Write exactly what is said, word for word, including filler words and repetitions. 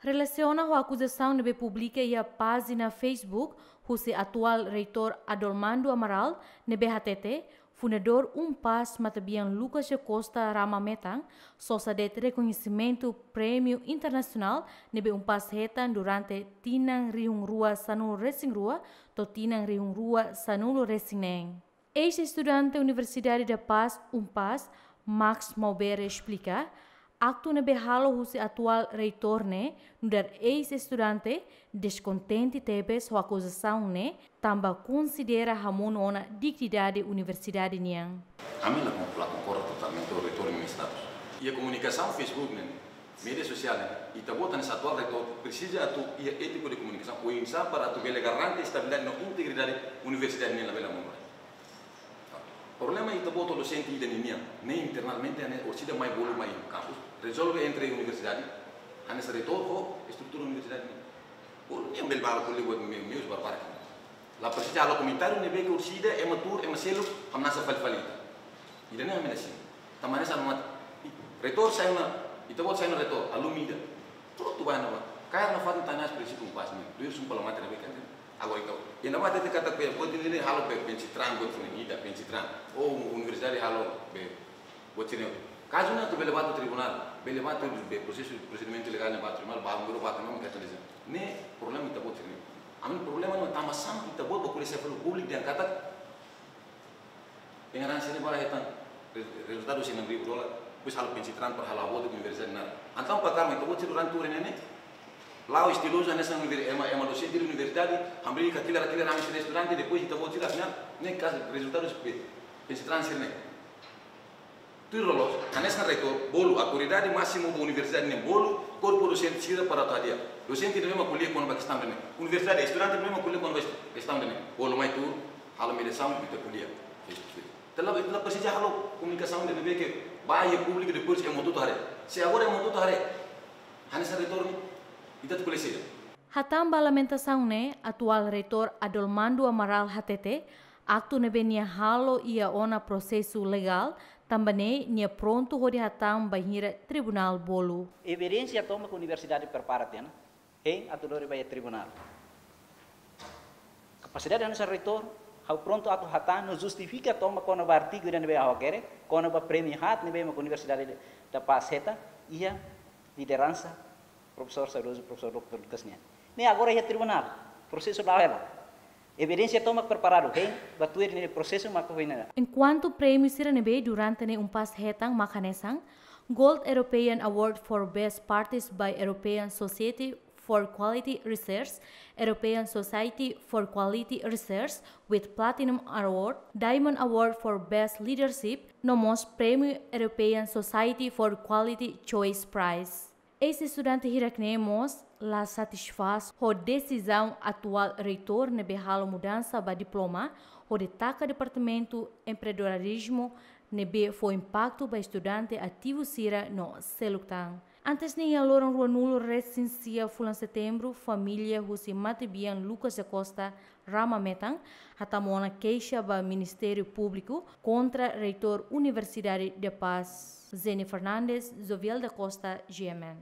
Relasiona ho akuzasaun ne'ebé publika iha pájina Facebook husi atuál reitór Adolmando Amaral, ne'ebé hatete fundadór UNPAZ matebian Lucas da Costa Rama Metan sosa de'it rekoñesimentu prémiu internasionál ne'ebé UNPAZ hetan durante tinan rihun rua sanulu resin rua to'o tinan rihun rua sanulu resin neen. Eis-estudante Universidade da Paz, UNPAZ, Max Maubere esplika, aktu ne'ebé halo husi atuál reitór ne'e nu'udar eis-estudante deskontente tebes ho akuzasaun ne'e, tanba konsidera hamonu ona dignidade universidade nian. Ami la, la konkorda totalmente ho reitór nia status. Iha komunikasaun Facebook ne'e, média sosiál ne'e, ita-boot hanesan atuál reitór presiza atu iha étika de komunikasaun, oinsá para atu bele garante estabilidade no integridade universidade ne'e labele hamonu. Problema ita-boot ho dosente ida ninian, ne'e internamente hanesan orsida mai bolu mai kampus, rezolve entre universidade, hanesan reitór ho estrutura universidade nian. Bolu nian bele bá halo ko'alia buat me-, meius barbarak. La presiza halo komentáriu ne'ebé ke orsida ema tuur, ema seluk, hamnasa fali-fali ita. Ida-ne'e ami la simu. Tanba hanesan mate. Reitór sai ona, ita-boot sai ona reitór, alumni ida. Prontu, bá ona bá. Kaer nafatin tanba hanesan prinsípiu UNPAZ nian. Duir sumpa la mate ne'ebé kan. Agora entaun, iha ne'ebá hatete katak be, buat ne'e halo be, pencitraan, buat ne'e ida, pencitraan. Ou universidade halo be, buat sira-ne'e. Kazu ne'e atu bele bá to'o tribunál, bele bá to'o be, prosesu, prosedimentu legál ne'e bá to'o tribunál, bá, bá to'o tribunál, kazu ne'e. Ne'e problema ita-boot sira-ne'e. Ami problema ne'e tanba sá ita-boot bá ko'alia sai fali públiku dehan katak, pengarang sira bá hetan re-, rezultadu sei enam ribu dolar, depois halo pencitraan para halo abortu universidade nada. Entaun para karma ita-boot sira durante tuur ne'e, la'o estilozu hanesan univer-, ema, ema dosente universidade, hamriik, hatila, hatila, rame sira estudante, depois ita-boot sira afinál, ne'e kazu rezultadu be, pencitraan sira-ne'e. Tuir loloos, hanesan reitór, bolu, autoridade másimu ba universidade ne'e bolu, korpu dosente sira para atu hadi'a. Dosente ne'ebé mak ko'alia kona-ba kestaun ne'e. Universidade, estudante ne'ebé mak ko'alia kona-ba kestaun ne'e. Bolu mai tuur, halo mediasaun, ita ko'alia. Ita la, ita la presiza halo komunikasaun ne'ebé ke bá iha públiku depois ema hotu-hotu haree. Se agora ema hotu-hotu haree, hanesan reitór ne'e, ita atu ko'alia saida? Hatán ba lamentasaun ne'e, atuál reitór Adolmando Amaral hatete, aktu ne'ebé nia halo iha ona prosesu legál, tanba ne'e nia prontu hodi hatán bainhira tribunál bolu. Evidénsia tomak universidade prepara tiha ona, hein atu lori ba iha tribunál. Kapasidade hanesan reitór, ha'u prontu atu hatán no justifika tomak kona-ba artigu ida ne'ebé ha'u hakerek, kona-ba prémiu haat ne'ebé mak Universidade da Paz hetan, iha lideransa profesór saudozu, profesór doutór Lucas nian. Ne'e agora iha tribunál, prosesu la'o hela. Evidénsia tomak preparadu, hein bá tuir ne'e prosesu mak foin hela. Enkuantu prémiu sira ne'ebé durante ne'e UNPAZ hetan mak hanesan, Gold European Award for Best Practice by European Society for Quality Research, European Society for Quality Research with Platinum Award, Diamond Award for Best Leadership, no mós prémiu European Society for Quality Choice Prize. Eis-estudante hirak-ne'e mós la satisfás ho desizaun atuál reitór ne'ebé halo mudansa ba diploma hodi taka departamentu empreendedorizmu ne'ebé fó impaktu ba estudante ativu sira no seluk tan. Antes ne'e iha loron rua nulu resin sia fulan setembru, família husi matebian Lucas da Costa Rama Metan hatama ona keixa ba Ministériu Públiku kontra reitór Universidade da Paz. Zeni Fernandes, Jovial da Costa, G M N.